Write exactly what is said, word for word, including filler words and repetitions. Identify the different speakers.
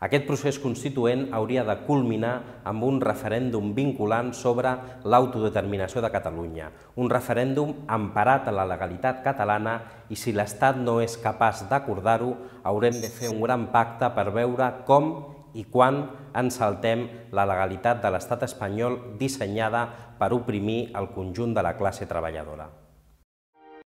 Speaker 1: Aquest procés constituent hauria de culminar amb un referèndum vinculant sobre l'autodeterminació de Catalunya, un referèndum emparat a la legalitat catalana i si l'Estat no és capaç d'acordar-ho, haurem de fer un gran pacte per veure com i quan ens saltem la legalitat de l'Estat espanyol dissenyada per oprimir el conjunt de la classe treballadora.